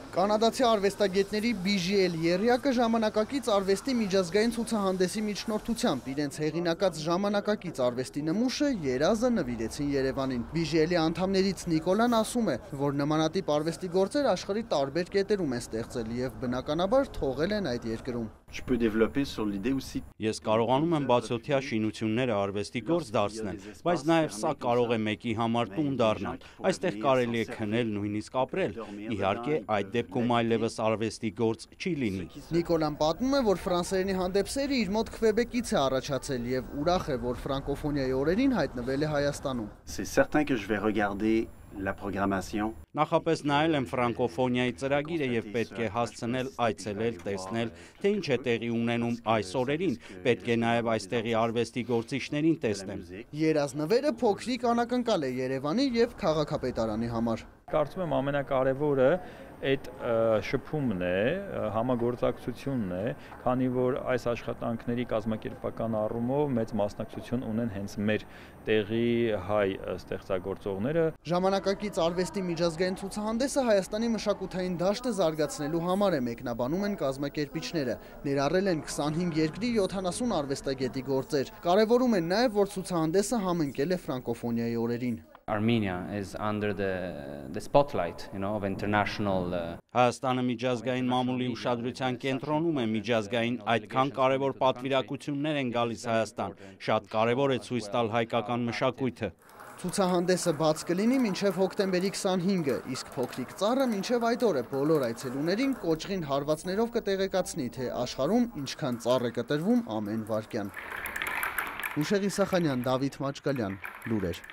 Կանադացի արվեստագետների BGL եռյակը ժամանակակից արվեստի միջազգային ցուցահանդեսի միջնորդությամբ իրենց հեղինակած ժամանակակից արվեստի նմուշը երազը նվիրեցին Երևանին։ BGL-ի անդամներից Նիկոլան ասում է, որ նմանատիպ արվեստի գործեր աշխարհի տարբեր կետերում են ստեղծել եւ բնականաբար թողել են այդ երկրում։ Ես կարողանում եմ բացօթյա շինությունները արվեստի գործ դարձնել, բայց նաև սա կարող է մեկի համար տուն դառնալ։ Այստեղ կարելի է քնել, նույնիսկ ապրել։ Իհարկե, այդ դեպքում այլևս արվեստի գործ չի լինի։ Նիկոլան պատմում է, որ ֆրանսերենի հանդեպ սերը իր մոտ Քվեբեկից է առաջացել եւ ուրախ է, որ ֆրանկոֆոնիայի օրերին հայտնվել է Հայաստանում։ Նախապես նայել եմ ֆրանկոֆոնիայի ծրագիրը եւ պետք է հասցնել այցելել, տեսնել, թե ինչ է տեղի ունենում այս օրերին, պետք է նաեւ այստեղի արվեստի գործիչներին տեսնեմ։ Երազնվերը փոքրիկ անակնկալ է Երևանի եւ քաղաքապետարանի համար։ Կարծում եմ ամենակարևորը այդ շփումն է, համագործակցությունն է, քանի որ այս աշխատանքների կազմակերպական առումով մեծ մասնակցություն ունեն հենց մեր տեղի հայ ստեղծագործողները։ Ժամանակակից արվեստի միջազգային ցուցահանդեսը Հայաստանի մշակութային դաշտը զարգացնելու համար է, մեկնաբանում են կազմակերպիչները։ Ներառել են 25 երկրի 70 արվեստագետի գործեր։ Կարևորում են նաև, որ ցուցահանդեսը համընկել է ֆրանկոֆոնիայի օրերին։ Armenia is under the spotlight, of international Հայաստանը միջազգային մամուլի ուշադրության կենտրոնում է, միջազգային այդքան կարևոր պատվիրակություններ են գալիս Հայաստան, շատ կարևոր է ցույց տալ հայկական մշակույթը։ Ցուցահանդեսը բաց կլինի մինչև հոկտեմբերի 25-ը, իսկ փոքրիկ ծառը մինչև այդ օրը բոլոր այցելուներին կոճղին հարվածներով կտեղեկացնի, թե աշխարհում ինչքան ծառ է կտրվում ամեն վայրկյան։ Հուշեղ Իսախանյան, Դավիթ Մաչկալյան, լուրեր։